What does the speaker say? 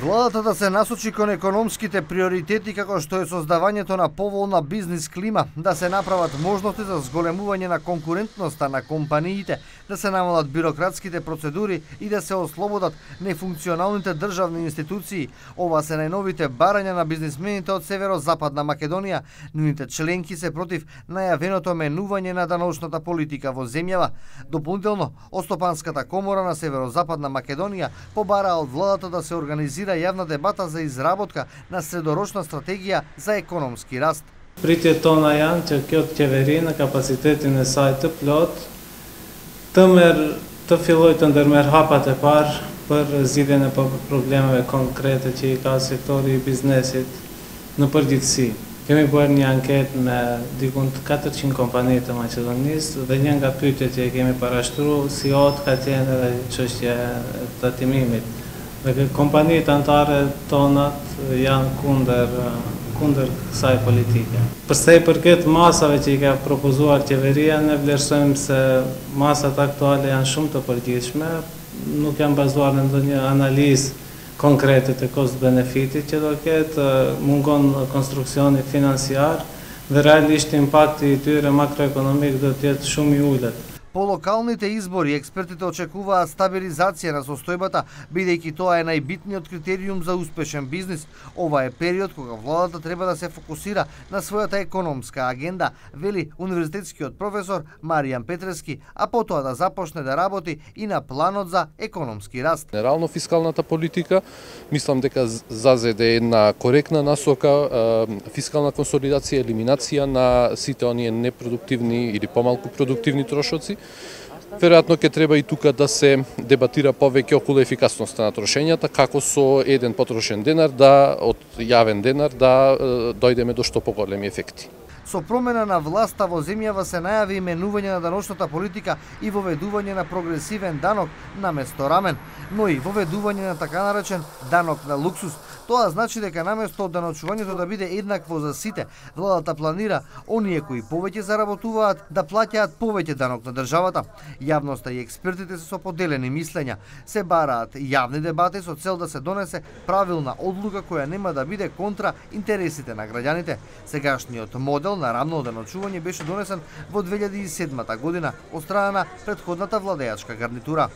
Владата да се насочи кон економските приоритети како што е создавањето на поволна бизнис клима, да се направат можности за зголемување на конкурентноста на компаниите, да се намалат бирократските процедури и да се ослободат нефункционалните државни институции. Ова се најновите барања на бизнисмените од Северозападна Македонија. Нивните членки се против најавеното менување на даночната политика во земјава. Дополнително, Остопанската комора на Северозападна Македонија побара од владата да се организира јавна дебата за изработка на средорочна стратегија за економски раст. Pritjet tona janë që kjo të qeveri në kapacitetin e saj të plot të filloj të ndërmer hapat e parë për zgjidhjen e problemeve konkrete që i ka sektori i biznesit në përgjithësi. Kemi bërë një anketë me dikun 400 kompani të Maqedonisë dhe një nga pyetjet që kemi parashtruar si ka qenë edhe çështja e tatimimit. Dhe kompanitë anëtare tonat janë kundër kësaj politike. Përsa i përket masave që i ka propozuar qeveria, ne vlerësojmë se masat aktuale janë shumë të përgjithshme, nuk janë bazuar në ndonjë analizë konkrete të cost-benefitit që do ketë, mungon konstruksioni financiar dhe realisht impakti i tyre makroekonomik do të jetë shumë i ulët. По локалните избори, експертите очекуваат стабилизација на состојбата, бидејќи тоа е најбитниот критериум за успешен бизнис. Ова е период кога владата треба да се фокусира на својата економска агенда, вели универзитетскиот професор Маријан Петрески, а потоа да започне да работи и на планот за економски раст. Генерално фискалната политика, мислам дека зазеде една коректна насока, фискална консолидација, елиминација на сите оние непродуктивни или помалку продуктивни трошоци. Веројатно ќе треба и тука да се дебатира повеќе околу ефикасноста на трошењата, како со еден потрошен денар од јавен денар да дојдеме до што поголеми ефекти. Со промена на власта во земјава се најави именување на даночната политика и воведување на прогресивен данок наместо рамен, но и воведување на така наречен данок на луксус. Тоа значи дека наместо даночувањето да биде еднакво за сите, владата планира оние кои повеќе заработуваат да плаќаат повеќе данок на државата. Јавноста и експертите се со поделени мислења. Се бараат јавни дебати со цел да се донесе правилна одлука која нема да биде контра интересите на граѓаните. Сегашниот модел на рамно даночување беше донесен во 2007 година од страна на претходната владеачка гарнитура.